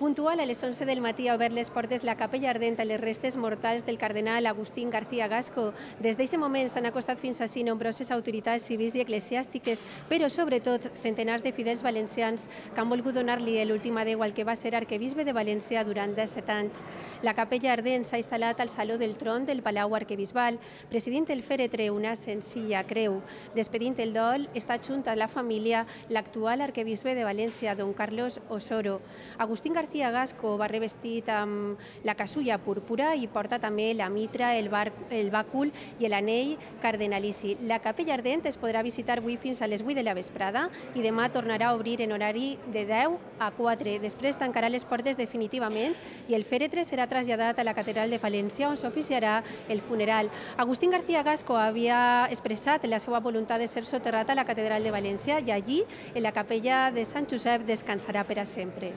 Puntual a les 11 del matí ha obert les portes la capella ardent a les restes mortals del cardenal Agustín García Gasco. Des d'aquest moment s'han acostat fins ací nombroses autoritats civils i eclesiàstiques, però sobretot centenars de fidels valencians que han volgut donar-li l'últim adéu al que va ser arquebisbe de València durant 17 anys. La capella ardent s'ha instal·lat al Saló del Tron del Palau Arquebisbal, presidint el fèretre una senzilla creu. Despedint el dol, està junt a la família l'actual arquebisbe de València, don Carlos Osoro. Agustín García Gasco va revestit amb la casulla púrpura i porta també la mitra, el bàcul i l'anell cardenalici. La capella ardent es podrà visitar avui fins a les 8 de la vesprada i demà tornarà a obrir en horari de 10 a 4. Després tancarà les portes definitivament i el fèretre serà traslladat a la catedral de València on s'oficiarà el funeral. Agustín García Gasco havia expressat la seva voluntat de ser soterrat a la catedral de València i allí, en la capella de Sant Josep, descansarà per a sempre.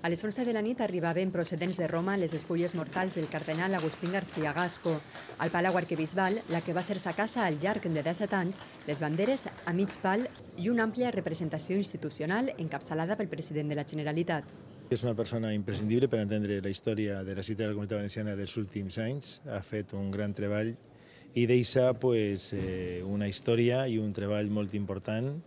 A les 11 de la nit arribaven procedents de Roma les despulles mortals del cardenal Agustín García Gasco. Al Palau Arquebisbal, la que va ser sa casa al llarg de 17 anys, les banderes a mig pal i una àmplia representació institucional encapçalada pel president de la Generalitat. És una persona imprescindible per entendre la història de la ciutat de la Comunitat Valenciana dels últims anys. Ha fet un gran treball i deixa una història i un treball molt important.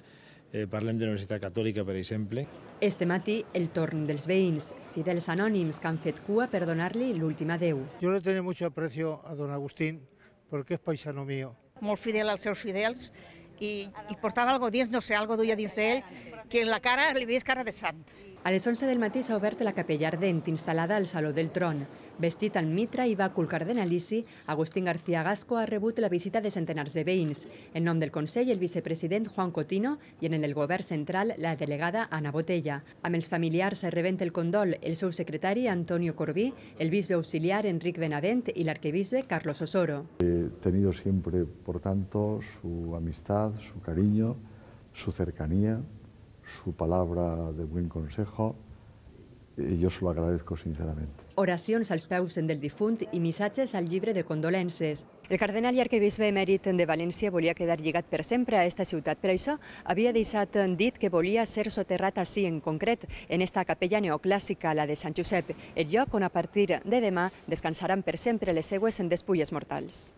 Parlem de la Universitat Catòlica, per exemple. Este matí, el torn dels veïns, fidels anònims que han fet cua per donar-li l'últim adéu. Yo le tengo mucho aprecio a don Agustín porque es paisano mío. Molt fidel als seus fidels i portava algo dins, no sé, algo duia dins d'ell, que en la cara li veies cara de sant. A les 11 del matí s'ha obert la capella ardent, instal·lada al Saló del Tron. Vestit amb mitra i bàcul cardenalici, Agustín García Gasco ha rebut la visita de centenars de veïns. En nom del Consell, el vicepresident Juan Cotino i en el del Govern Central, la delegada Ana Botella. Amb els familiars rebent el condol el seu secretari Antonio Corbí, el bisbe auxiliar Enric Benavent i l'arquebisbe Carlos Osoro. He tenido siempre, por tanto, su amistad, su cariño, su cercanía, su palabra de buen consejo, y yo se lo agradezco sinceramente. Oracions als peus del difunt i missatges al llibre de condolences. El cardenal i arquebisbe emèrit de València volia quedar lligat per sempre a esta ciutat. Per això havia deixat dit que volia ser soterrat ací, en concret, en esta capella neoclàssica, la de Sant Josep, el lloc on a partir de demà descansaran per sempre les seues despulles mortals.